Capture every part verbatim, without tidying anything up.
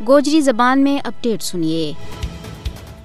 گوجری زبان میں اپڈیٹ سنیے۔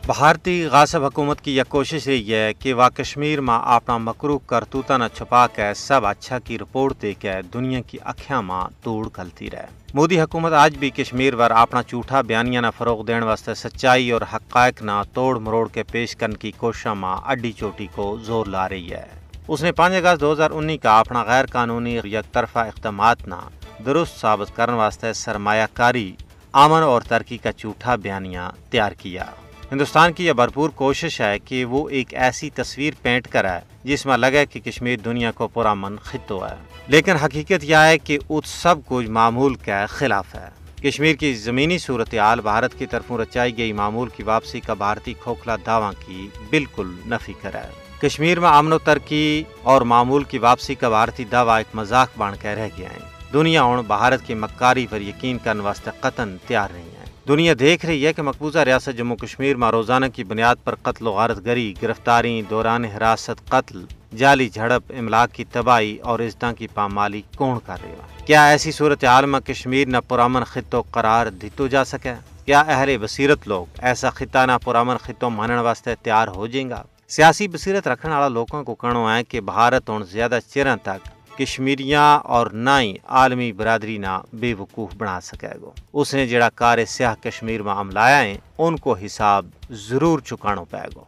بھارتی غاصب حکومت کی یہ کوشش رہی ہے کہ وہ کشمیر ما اپنا مکروہ کرتوتاں نا چھپا کے سب اچھا کی رپورٹ دے کے دنیا کی اکھیاں ما توڑ گھلتی رہے۔ مودی حکومت آج بھی کشمیر پر اپنا جھوٹا بیانیاں نا فروغ دین واسطے سچائی اور حقائق نا توڑ مروڑ کے پیش کرن کی کوششاں ما اڈی چوٹی کو زور لا رہی ہے۔ اس نے پانچ اگست دو ہزار انی کا اپنا غیر قانونی یک طرفہ اقدامات نا درست ثابت کرن واسطے سرمایہ کاری، امن اور ترقی کا جھوٹا بیانیہ تیار کیا۔ ہندوستان کی یہ بھرپور کوشش ہے کہ وہ ایک ایسی تصویر پینٹ کرے جس ما لگے کہ کشمیر دنیا کو پرامن خطو ہے، لیکن حقیقت یہ ہے کہ ات سب کچھ معمول کے خلاف ہے۔ کشمیر کی زمینی صورتحال بھارت کی طرفوں رچائی گئی معمول کی واپسی کا بھارتی کھوکھلا دعواں کی بالکل نفی کرے۔ کشمیر ما امن و ترقی اور معمول کی واپسی کا بھارتی دعویٰ ایک مذاق بن کے رہ گیا ہیں۔ دنیا ہن بھارت کی مکاری پر یقین کرن واسطے قطعا تیار نہیں ہے۔ دنیا دیکھ رہی ہے کہ مقبوضہ ریاست جموں کشمیر ما روزانہ کی بنیاد پر قتل و غارت گری، گرفتاری، دوران حراست قتل، جعلی جھڑپ، املاک کی تباہی اور عزتاں کی پامالی کون کر رہی ہے؟ کیا ایسی صورتحال ما کشمیر نا پرامن خطو قرار دتو جا سکے؟ کیا اہل بصیرت لوگ ایسا خطہ نا پرامن خطو مانن واسطے تیار ہو جائیں گا؟ سیاسی بصیرت رکھن آلا لوکاں کو کہنو ہے کہ بھارت ہن زیادہ چیراں تک کشمیریاں اور نہ ہی عالمی برادری نا بے وقوف بنا سکے گو۔ اس نے جڑا کار سیاہ کشمیر ما عملایا ہیں، ان کو حساب ضرور چکانو پائے گو۔